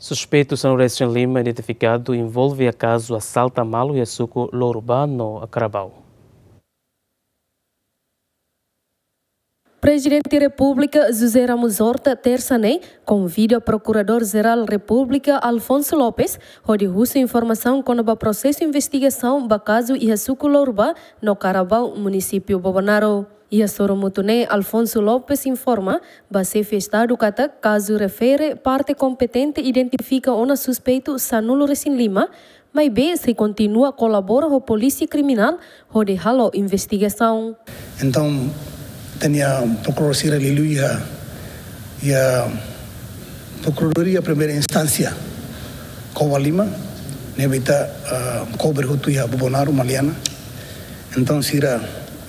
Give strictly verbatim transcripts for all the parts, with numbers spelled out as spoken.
Suspeitu sanulu-resin-lima identifikadu envolve iha kazu asalta malu iha suku Lourbá no Carabao. Prezidente Repúblika José Ramos Horta, tersa ne'e, konvida Prokuradór-Jerál Repúblika Alfonso Lopes hodi husu informasaun kona-ba prosesu investigasaun ba kazu iha suku Lourbá no Carabao, munisípiu Bobonaro. Iha sorumutu ne'e, Alfonso Lopes informa ba Xefe Estadu katak kazu refere parte kompetente identifika ona suspeitu sanulu-resin-lima, maibé sei kontinua kolabora ho Polísia Kriminál hodi halo investigasaun. Entaun, ita-nia prokuradór sira liuliu iha, iha Prokuradór Primeira Instánsia Covalima, ne'ebé ita, ah, kobre hotu iha Bobonaro, Maliana. Entaun, sira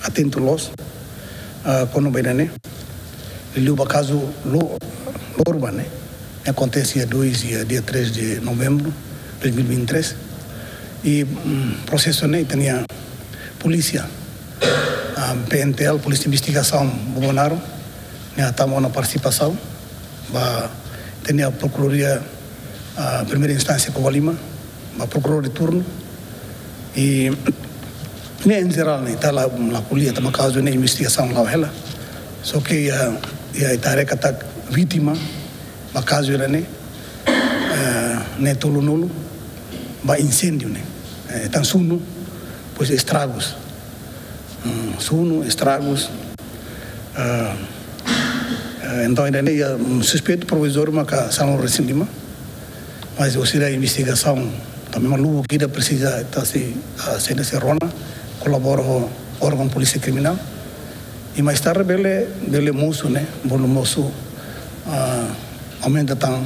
atentu loos, ah, kona-ba ida-ne'e. Liuliu ba kazu Lo-, Lourbá ne'e, akontese iha dois, iha dia três de novembro de dois mil e vinte e três. I, mm, prosesu ne'e ita-nia polísia, ah, P N T L, Polísia Investigasaun Bobonaro, ne'e hatama ona partisipasaun ba ita-nia Prokuradoria, ah, Primeira Instánsia Covalima, ba prokuradór de turnu. I ne'e, em geral, ne'e, ita la, la ko'alia tanba kazu ne'e, investigasaun la'o hela. Só ke iha, iha ita haree katak vítima ba kazu ne'e, eh, ne'e tolunulu ba insêndiu ne'e. Eh, entaun sunu, depois estragus. Hmm, sunu, estragus. Ah, eh, entaun, ida-ne'e iha, mm, suspeitu provizóriu maka sanulu-resin-lima. Mas husi investigasaun, tanba malu ida presiza ita sei, ah, sei, sei rona, kolabora ho órgaun Polísia Kriminál. I mais tarde bele, bele mosu, ne'e, bele mosu, ah, aumenta tan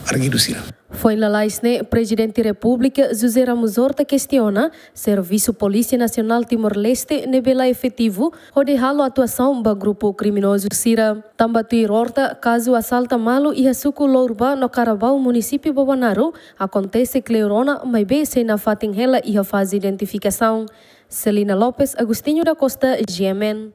arguidu sira. Foin lalais ne'e, Prezidente Repúblika José Ramos Horta kestiona servisu Polísia Nasionál Timor-Leste ne'ebé la efetivu hodi halo atuasaun ba grupu kriminozu sira. Tanba tuir Horta, kazu asalta malu iha suku Lourbá no Carabao, munisípiu Bobonaro, akontese kleur ona, maibé sei nafatin hela iha faze identifikasaun. Celina Lopes, Agostinho da Costa, G M N.